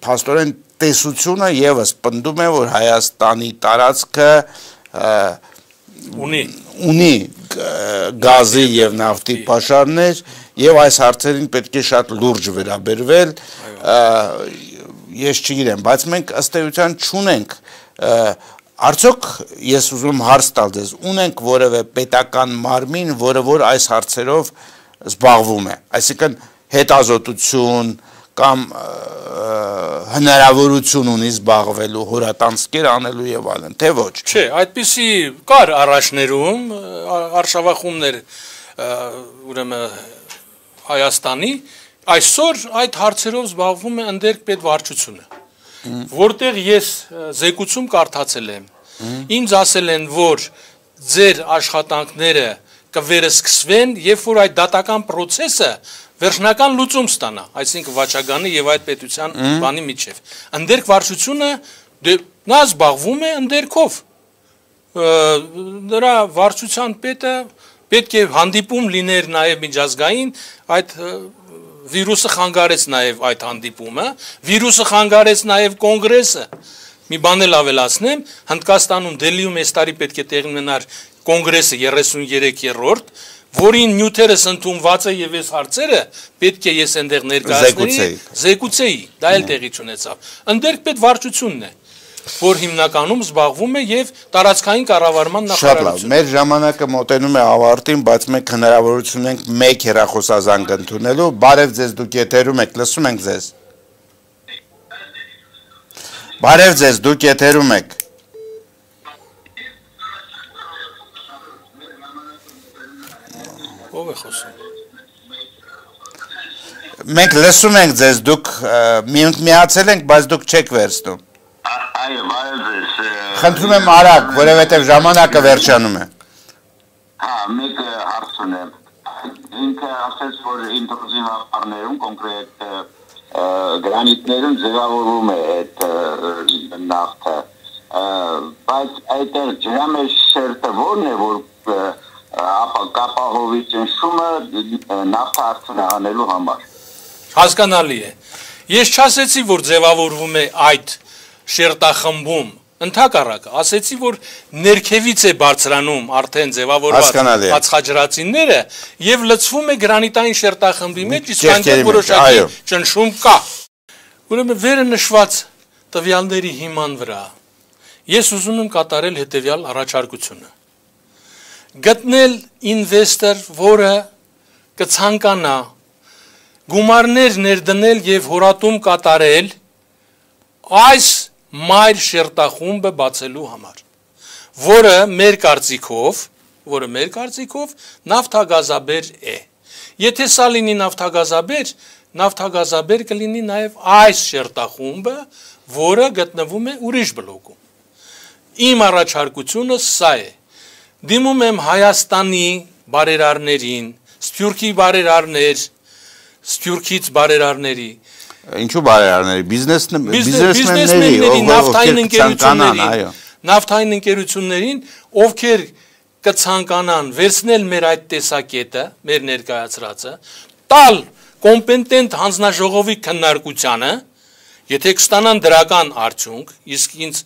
փաստորեն տեսությունը եւս պնդում է, որ Հայաստանի տարածքը ունի ունի գազի եւ նավթի պաշարներ եւ այս հարցերին պետք է շատ լուրջ վերաբերվել։ Ես չգիտեմ, բայց մենք ըստ էության չունենք Արդյոք ես ուզում հարց տալ ձեզ, ունենք որևէ պետական մարմին, որը որ այս հարցերով զբաղվում է, այսինքն հետազոտություն կամ հնարավորություն ունի զբաղվելու, հորատանցքեր անելու եւ այլն, թե ոչ։ Չէ, այդպիսի կար առաջներում արշավախումներ ուրեմն Հայաստանի, այսօր այդ հարցերով զբաղվում է ընդերք պետվարչությունը։ Որտեղ ես զեկուցում կարդացել եմ, ինձ ասել են, որ ձեր աշխատանքները կվերսկսվեն, երբ որ այդ դատական պրոցեսը վերջնական լուծում ստանա, այսինքն վաճառականի եւ այդ պետության բանի միջև։ Ընդերք վարչությունը նա զբաղվում է ընդերքով։ Նրա վարչության պետը պետք է հանդիպում լիներ նաեւ միջազգային այդ Վիրուսը խանգարեց նաև այդ հանդիպումը, վիրուսը խանգարեց նաև կոնգրեսը։ Մի բան էլ ավելացնեմ, Հնդկաստանում Դելիում այս տարի պետք է տեղի ունենար կոնգրեսը երեսուններեք-րդ, որին նյութերս ընդունված է եւ այս հարցերը պետք է ես այնտեղ ներկայացնեի, զեկուցեի, դա էլ տեղի չունեցավ։ Ընդերք պետվարչությունն է, որ հիմնականում զբաղվում է եւ տարածքային կառավարման նախարարությունը։ Մեր ժամանակը մոտենում է ավարտին, բայց մենք հնարավորություն ունենք մեկ հեռախոսազանգ ընդունելու։ Բարև ձեզ, դուք եթերում եք, լսում ենք ձեզ։ Բարև ձեզ, դուք եթերում եք։ Ո՞վ է խոսում։ Մենք լսում ենք ձեզ, դուք միացել ենք, բայց դուք չեք վերցնում։ Այո, բարև ձեզ։ Խնդրում եմ արագ, որովհետև ժամանակը վերջանում է։ Հա, մեկ հարց ունեմ։ Ինքը ասաց, որ ինտրուզիվ ապարներում, կոնկրետ գրանիտներում ձևավորվում է այդ նավթը, բայց այդտեղ ջրամեջ շերտը որն է, որ կապահովի ճնշումը նավթը արդյունահանելու համար։ Հասկանալի է։ Ես չասեցի, որ ձևավորվում է այդ շերտախմբում, ընդհակառակը, ասեցի, որ ներքևից է բարձրանում արդեն ձևավորված ածխաջրածինները եւ լցվում է գրանիտային շերտախմբի մեջ, իսկ այնտեղ որոշակի ճնշում կա։ Ուրեմն վերը նշված տվյալների հիման վրա ես ուզում եմ կատարել հետեւյալ առաջարկությունը։ Գտնել ինվեստոր, որը կցանկանա գումարներ ներդնել եւ հորատում կատարել այս մայր շերտախումբը բացելու համար, որը մեր կարծիքով, որը մեր կարծիքով նավթագազաբեր է։ Եթե սա լինի նավթագազաբեր, նավթագազաբեր կլինի նաև այս շերտախումբը, որը գտնվում է ուրիշ բլոկում։ Իմ առաջարկությունը սա է։ Դիմում եմ Հայաստանի բարերարներին, Սփյուռքի բարերարներ, Սփյուռքից բարերարների, Ինչու բարերարների, բիզնեսմենների, նավթային ընկերություններին, նավթային ընկերություններին, ովքեր կցանկանան վերցնել մեր այդ տեսակետը, մեր ներկայացրածը, տալ կոմպետենտ հանձնաժողովի քննարկությանը, եթե կստանան դրական արդյունք, իսկ ինձ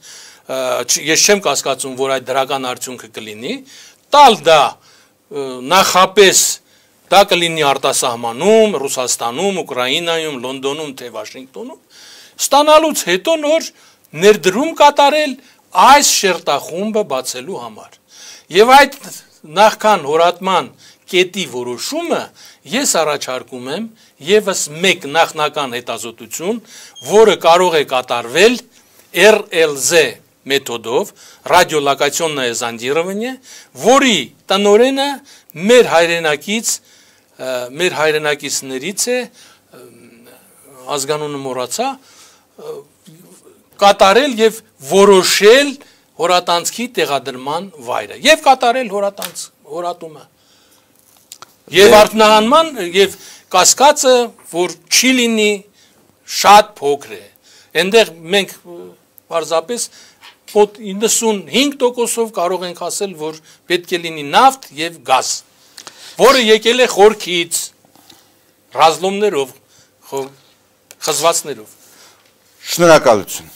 ես չեմ կասկածում, որ այդ դրական արդյունքը կլինի, տալ դա նախապես դա կլինի արտասահմանում, Ռուսաստանում, Ուկրաինայում, Լոնդոնում, թե Վաշինգտոնում, ստանալուց հետո նոր ներդրում կատարել այս շերտախումբը բացելու համար։ Եվ այդ նախքան հորատման կետի որոշումը ես առաջարկում եմ եւս մեկ նախնական հետազոտություն, որը կարող է կատարվել R L Z մեթոդով, ռադիոլոկացիոնное зондирование, որի տնօրենը մեր հայրենակից մեր հայրենակիցներից է, ազգանունը մոռացա, կատարել եւ որոշել հորատանցքի տեղադրման վայրը եւ կատարել հորատանց հորատումը եւ արդյունահանման եւ կասկածը, որ չի լինի շատ փոքր է։ Այնտեղ մենք պարզապես մոտ իննսունհինգ տոկոսով կարող ենք ասել, որ պետք է լինի նավթ եւ գազ, որը եկել է խորքից, ռազմներով, խզվածներով։ Շնորհակալություն։